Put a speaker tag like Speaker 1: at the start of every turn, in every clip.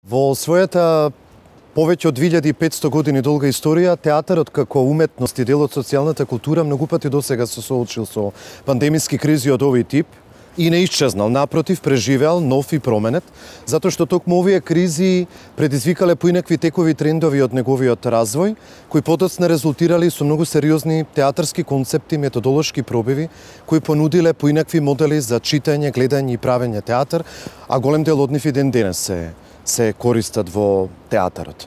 Speaker 1: Во својата повеќе од 2500 години долга историја, театарот како уметност и дел од социјалната култура многу пати досега се соочил со пандемиски кризи од овој тип и не исчезнал, напротив, преживеал нов и променет, затоа што токму овие кризи предизвикале поинакви текови трендови од неговиот развој, кои подоцна резултирали со многу сериозни театарски концепти, методолошки пробиви, кои понудиле поинакви модели за читање, гледање и правење театар, а голем дел од нив и ден денес се користат во театарот.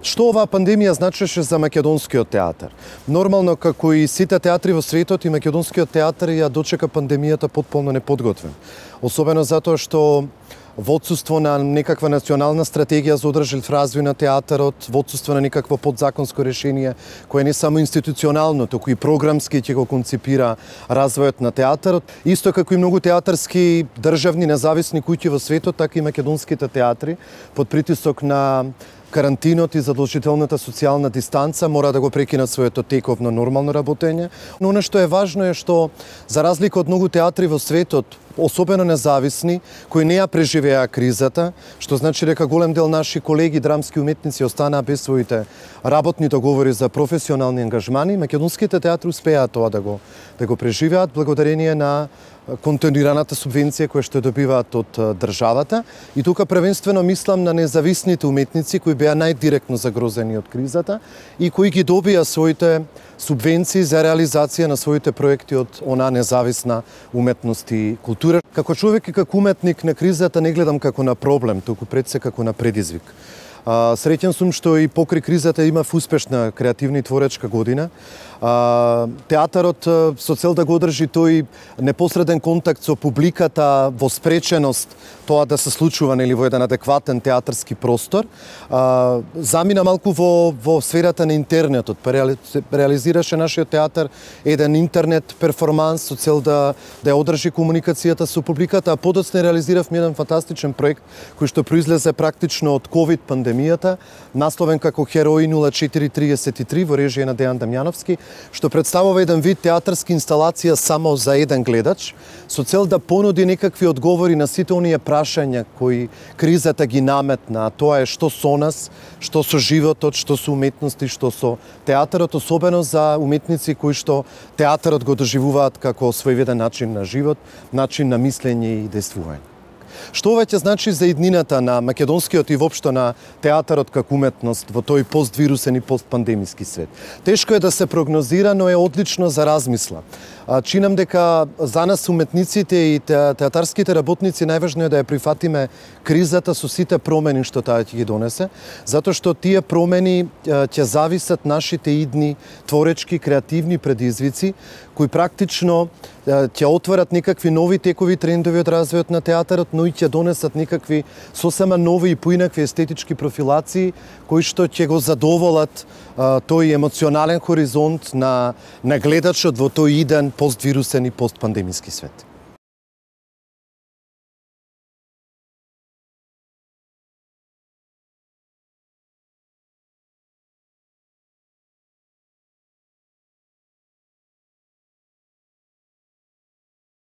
Speaker 1: Што оваа пандемија значеше за македонскиот театар? Нормално, како и сите театри во светот, и македонскиот театар ја дочека пандемијата потполно неподготвен. Особено затоа што во отсуство на некаква национална стратегија за одржлив развој на театарот, во отсуство на некакво подзаконско решение, кое не само институционално, туку и програмски ќе го концепира развојот на театарот, исто како и многу театарски државни независни куќи во светот, така и македонските театри, под притисок на карантинот и задолжителната социјална дистанца мора да го прекинат своето тековно нормално работење. Но она што е важно е што, за разлика од многу театри во светот, особено независни, кои не ја преживеа кризата, што значи дека голем дел наши колеги драмски уметници останаа без своите работни договори за професионални ангажмани, македонските театри успеа тоа да го преживеат благодарение на континуираната субвенција која што добиваат од државата. И тука првенствено мислам на независните уметници кои беа најдиректно загрозени од кризата и кои ги добија своите субвенции за реализација на своите проекти од она независна уметност и култура. Како човек и како уметник на кризата не гледам како на проблем, туку пред се како на предизвик. Среќен сум што и покри кризата имав успешна креативна и творечка година. Театарот со цел да го одржи тој непосреден контакт со публиката во спреченост тоа да се случува во еден адекватен театарски простор, замина малку во сферата на интернетот. Реализираше нашиот театар еден интернет перформанс со цел да ја одржи комуникацијата со публиката, а подоцна реализиравме еден фантастичен проект кој што произлезе практично од ковид пандемијата, насловен како Херои 0433 во режија на Дејан Дамјановски, што представува еден вид театарска инсталација само за еден гледач, со цел да понуди некакви одговори на сите оние прашања кои кризата ги наметна, а тоа е што со нас, што со животот, што со уметност и што со театарот, особено за уметници кои што театарот го доживуваат како својвиден начин на живот, начин на мислење и действување. Што ова ќе значи за иднината на македонскиот и воопшто на театарот како уметност во тој поствирусен и постпандемиски свет? Тешко е да се прогнозира, но е одлично за размисла. Чинам дека за нас уметниците и театарските работници најважно е да ја прифатиме кризата со сите промени што таа ќе ги донесе, затоа што тие промени ќе зависат нашите идни творечки, креативни предизвици, кои практично ќе отворат некакви нови текови трендови од развојот на театарот, но и ќе донесат некакви сосема нови и поинакви естетички профилации, кои што ќе го задоволат тој емоционален хоризонт на гледачот во тој иден поствирусен и постпандемиски свет.